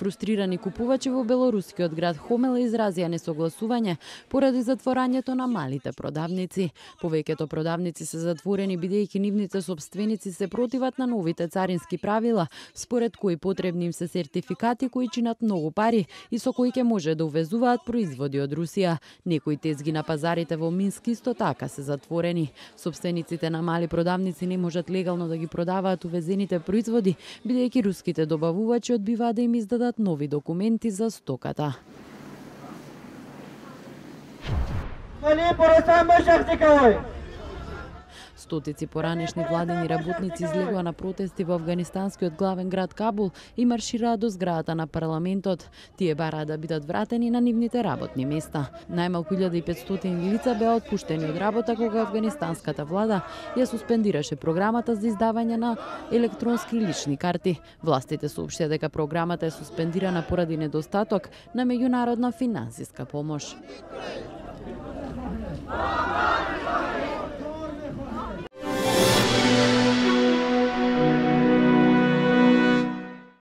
Фрустрирани купувачи во белорускиот град Хомела изразија несогласување поради затворањето на малите продавници. Повеќето продавници се затворени бидејќи нивните сопственици се противат на новите царински правила, според кои потребни им се сертификати кои чинат многу пари и со кои ќе може да увезуваат производи од Русија. Некои тезги на пазарите во Минск исто така се затворени. Сопствениците на мали продавници не можат легално да ги продаваат увезените производи, бидејќи руските добавувачи одбиваат да им издадат нови документи за стоката. Стотици поранешни владени работници излегоа на протести во афганистанскиот главен град Кабул и маршираа до зградата на парламентот. Тие бараа да бидат вратени на нивните работни места. Најмалку 1500 лица беа отпуштени од работа кога афганистанската влада ја суспендираше програмата за издавање на електронски лични карти. Властите соопштија дека програмата е суспендирана поради недостаток на меѓународна финансиска помош.